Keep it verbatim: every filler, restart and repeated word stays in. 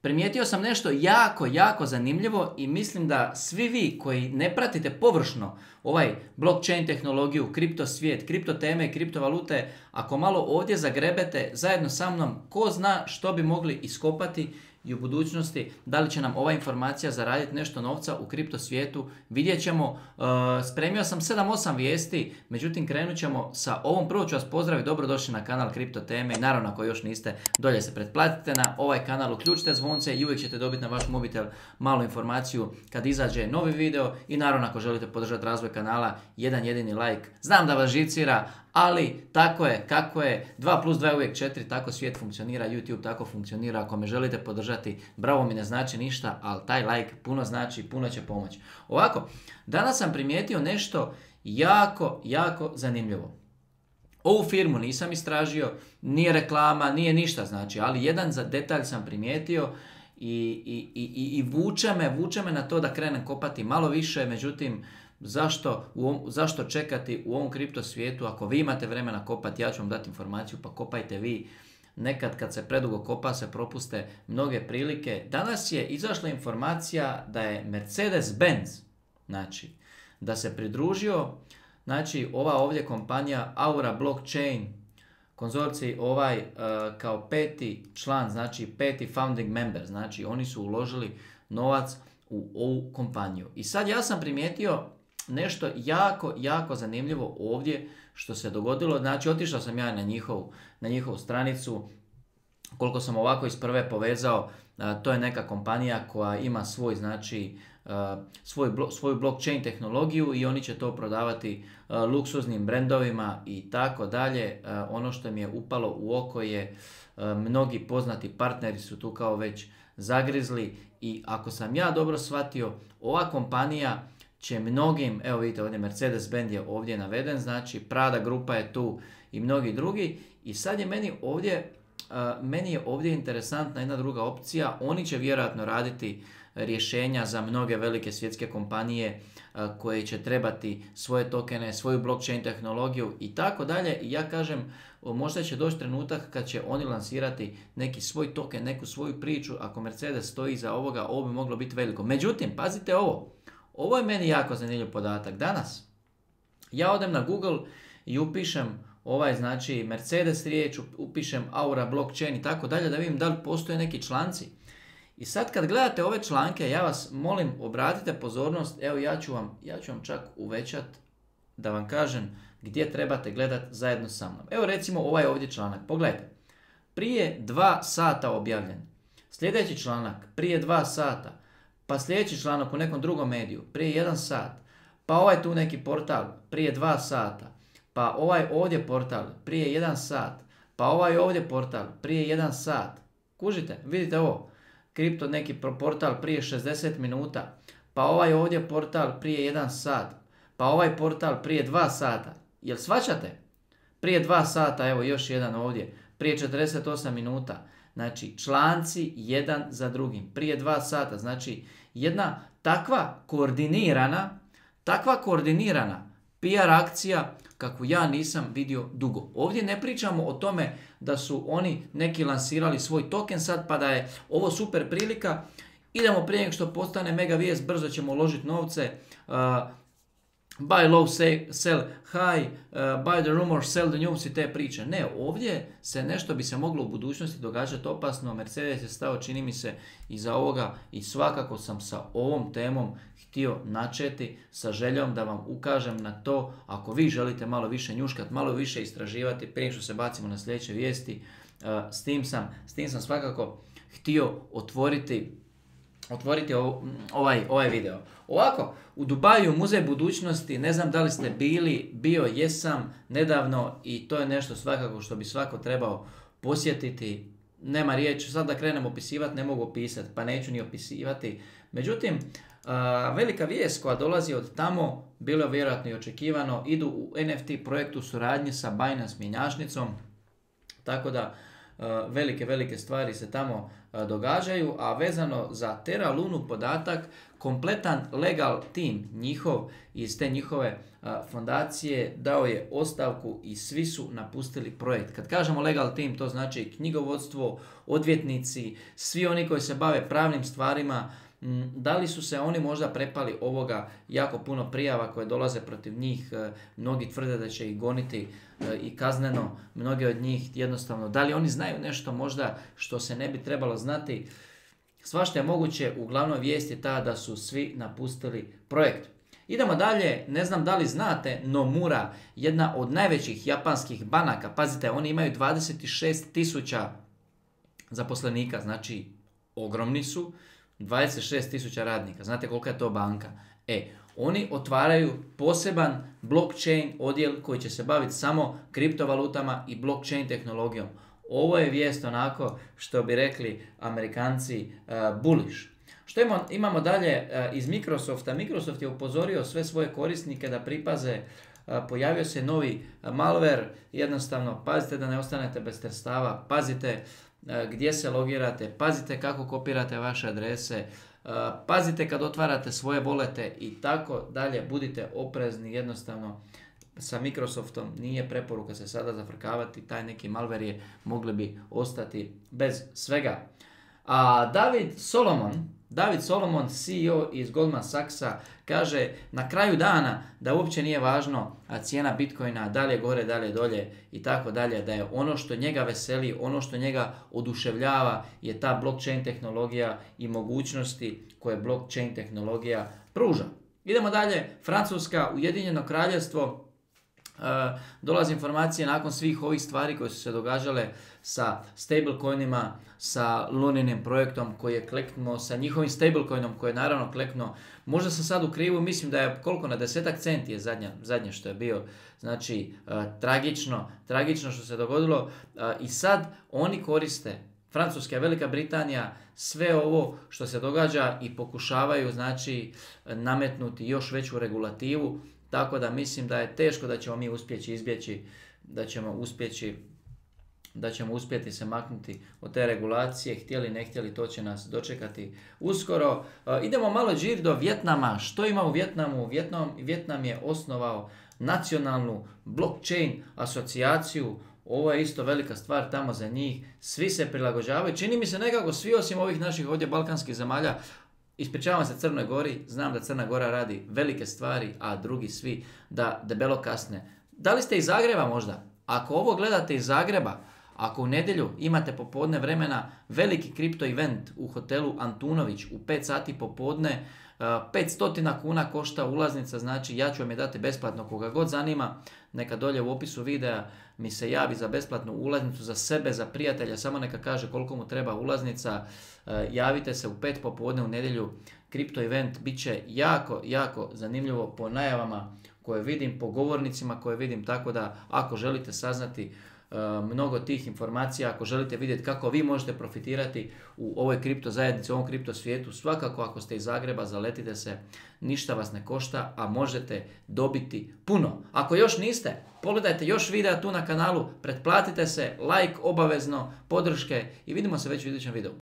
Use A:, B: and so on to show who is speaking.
A: primijetio sam nešto jako, jako zanimljivo i mislim da svi vi koji ne pratite površno ovaj blockchain tehnologiju, kripto svijet, kripto teme i kriptovalute, ako malo ovdje zagrebete zajedno sa mnom, ko zna što bi mogli iskopati i u budućnosti, da li će nam ova informacija zaraditi nešto novca u kripto svijetu, vidjet ćemo. Uh, spremio sam sedam osam vijesti, međutim krenut ćemo sa ovom. Prvo ću vas pozdraviti, dobrodošli na kanal Kripto teme i naravno ako još niste, dolje se pretplatite na ovaj kanal, uključite zvonce i uvijek ćete dobiti na vaš mobitel malu informaciju kad izađe novi video i naravno ako želite podržati razvoj kanala, jedan jedini like. Znam da vas živcira, ali tako je, kako je, dva plus dva je uvijek četiri, tako svijet funkcionira, YouTube tako funkcionira. Ako me želite podržati, bravo mi ne znači ništa, ali taj like puno znači, puno će pomoći. Ovako, danas sam primijetio nešto jako, jako zanimljivo. Ovu firmu nisam istražio, nije reklama, nije ništa znači, ali jedan za detalj sam primijetio i, i, i, i vuče me, vuče me na to da krenem kopati malo više, međutim, Zašto, u ovom, zašto čekati u ovom kripto svijetu? Ako vi imate vremena kopati, ja ću vam dati informaciju, pa kopajte vi. Nekad kad se predugo kopa se propuste mnoge prilike. Danas je izašla informacija da je Mercedes-Benz, znači, da se pridružio, znači, ova ovdje kompanija Aura Blockchain, konzorcij ovaj uh, kao peti član, znači peti founding member, znači oni su uložili novac u ovu kompaniju. I sad ja sam primijetio nešto jako, jako zanimljivo ovdje što se dogodilo. Znači, otišao sam ja na njihovu, na njihovu stranicu. Koliko sam ovako iz prve povezao, a, to je neka kompanija koja ima svoj, znači, a, svoj blo, svoju blockchain tehnologiju i oni će to prodavati a, luksuznim brendovima i tako dalje. A, ono što mi je upalo u oko je a, mnogi poznati partneri su tu kao već zagrizli i ako sam ja dobro shvatio, ova kompanija će mnogim, evo vidite ovdje Mercedes-Benz je ovdje naveden, znači Prada grupa je tu i mnogi drugi i sad je meni ovdje, uh, meni je ovdje interesantna jedna druga opcija. Oni će vjerojatno raditi rješenja za mnoge velike svjetske kompanije uh, koje će trebati svoje tokene, svoju blockchain tehnologiju i tako dalje. I ja kažem, možda će doći trenutak kad će oni lansirati neki svoj token, neku svoju priču. Ako Mercedes stoji iza ovoga, ovo bi moglo biti veliko. Međutim, pazite ovo. Ovo je meni jako zanimljiv podatak. Danas ja odem na Google i upišem ovaj, znači, Mercedes riječ, upišem Aura Blockchain i tako dalje da vidim da li postoje neki članci. I sad kad gledate ove članke, ja vas molim, obratite pozornost, evo ja ću vam, ja ću vam čak uvećat da vam kažem gdje trebate gledati zajedno sa mnom. Evo recimo ovaj ovdje članak, pogledajte. Prije dva sata objavljen. Sljedeći članak, prije dva sata. Pa sljedeći članak u nekom drugom mediju, prije jedan sat. Pa ovaj tu neki portal, prije dva sata. Pa ovaj ovdje portal, prije jedan sat. Pa ovaj ovdje portal, prije jedan sat. Kužite, vidite ovo. Kripto neki portal prije šezdeset minuta. Pa ovaj ovdje portal prije jedan sat. Pa ovaj portal prije dva sata. Jel shvaćate? Prije dva sata, evo još jedan ovdje. Prije četrdeset osam minuta. Znači, članci jedan za drugim. Prije dva sata. Znači, jedna takva koordinirana, takva koordinirana P R akcija kakvu ja nisam vidio dugo. Ovdje ne pričamo o tome da su oni neki lansirali svoj token sad pa da je ovo super prilika. Idemo prije nego što postane mega vijest, brzo ćemo uložiti novce. Uh, buy low, sell high, uh, buy the rumor, sell the news i te priče. Ne, ovdje se nešto bi se moglo u budućnosti događati opasno. Mercedes je stao, čini mi se, iza ovoga i svakako sam sa ovom temom htio načeti sa željom da vam ukažem na to. Ako vi želite malo više njuškati, malo više istraživati, prije što se bacimo na sljedeće vijesti, uh, s tim sam, s tim sam svakako htio otvoriti otvoriti ovaj, ovaj video. Ovako, u Dubaju muzej budućnosti, ne znam da li ste bili, bio jesam nedavno i to je nešto svakako što bi svako trebao posjetiti. Nema riječi, sad da krenem opisivati, ne mogu opisati, pa neću ni opisivati. Međutim, a, velika vijest koja dolazi od tamo, bilo je vjerojatno i očekivano, idu u N F T projektu suradnje sa Binance mjenjačnicom, tako da velike, velike stvari se tamo događaju, a vezano za Terra Lunu podatak, kompletan legal tim njihov iz te njihove fondacije dao je ostavku i svi su napustili projekt. Kad kažemo legal tim, to znači knjigovodstvo, odvjetnici, svi oni koji se bave pravnim stvarima. Da li su se oni možda prepali ovoga jako puno prijava koje dolaze protiv njih, mnogi tvrde da će ih goniti i kazneno, mnogi od njih jednostavno, da li oni znaju nešto možda što se ne bi trebalo znati, svašta je moguće, uglavnom vijest je ta da su svi napustili projekt. Idemo dalje, ne znam da li znate, Nomura, jedna od najvećih japanskih banaka, pazite, oni imaju dvadeset šest tisuća zaposlenika, znači ogromni su, dvadeset šest tisuća radnika, znate kolika je to banka? E, oni otvaraju poseban blockchain odjel koji će se baviti samo kriptovalutama i blockchain tehnologijom. Ovo je vijest onako što bi rekli Amerikanci uh, bullish. Što imamo, imamo dalje uh, iz Microsofta? Microsoft je upozorio sve svoje korisnike da pripaze, uh, pojavio se novi uh, malware, jednostavno pazite da ne ostanete bez sredstava, pazite gdje se logirate, pazite kako kopirate vaše adrese, pazite kad otvarate svoje volete i tako dalje, budite oprezni, jednostavno sa Microsoftom nije preporuka se sada zafrkavati, taj neki malware je, mogli bi ostati bez svega. A David Solomon, David Solomon, C E O iz Goldman Sachsa, kaže na kraju dana da uopće nije važno cijena Bitcoina, dalje gore, dalje dolje i tako dalje, da je ono što njega veseli, ono što njega oduševljava je ta blockchain tehnologija i mogućnosti koje blockchain tehnologija pruža. Idemo dalje, Francuska, Ujedinjeno Kraljevstvo. Uh, dolazi informacije nakon svih ovih stvari koje su se događale sa stablecoinima, sa Luninim projektom koji je kleknuo, sa njihovim stablecoinom koji je naravno kleknuo. Možda sam sad u krivu, mislim da je koliko na desetak centi je zadnja, zadnje što je bio. Znači, uh, tragično, tragično što se dogodilo uh, i sad oni koriste, Francuska i Velika Britanija, sve ovo što se događa i pokušavaju znači nametnuti još veću regulativu. Tako da mislim da je teško da ćemo mi uspjeći izbjeći, da ćemo uspjeći, da ćemo uspjeti se maknuti od te regulacije, htjeli ne htjeli, to će nas dočekati uskoro. E, idemo malo džir do Vjetnama. Što ima u Vjetnamu? Vjetnam, Vjetnam je osnovao nacionalnu blockchain asocijaciju. Ovo je isto velika stvar tamo za njih. Svi se prilagođavaju. Čini mi se nekako svi osim ovih naših ovdje balkanskih zemalja. Ispričavam se Crnoj Gori, znam da Crna Gora radi velike stvari, a drugi svi da debelo kasne. Da li ste iz Zagreba možda? Ako ovo gledate iz Zagreba, ako u nedjelju imate popodne vremena veliki kripto event u hotelu Antunović u pet sati popodne, petsto kuna košta ulaznica, znači ja ću vam je dati besplatno, koga god zanima, neka dolje u opisu videa mi se javi za besplatnu ulaznicu za sebe, za prijatelja, samo neka kaže koliko mu treba ulaznica, javite se u pet popodne u nedjelju, kripto event, bit će jako, jako zanimljivo po najavama koje vidim, po govornicima koje vidim, tako da ako želite saznati mnogo tih informacija, ako želite vidjeti kako vi možete profitirati u ovoj kripto zajednici, u ovom kripto svijetu, svakako ako ste iz Zagreba, zaletite se, ništa vas ne košta, a možete dobiti puno. Ako još niste, pogledajte još videa tu na kanalu, pretplatite se, like obavezno, podrške i vidimo se već u idućem videu.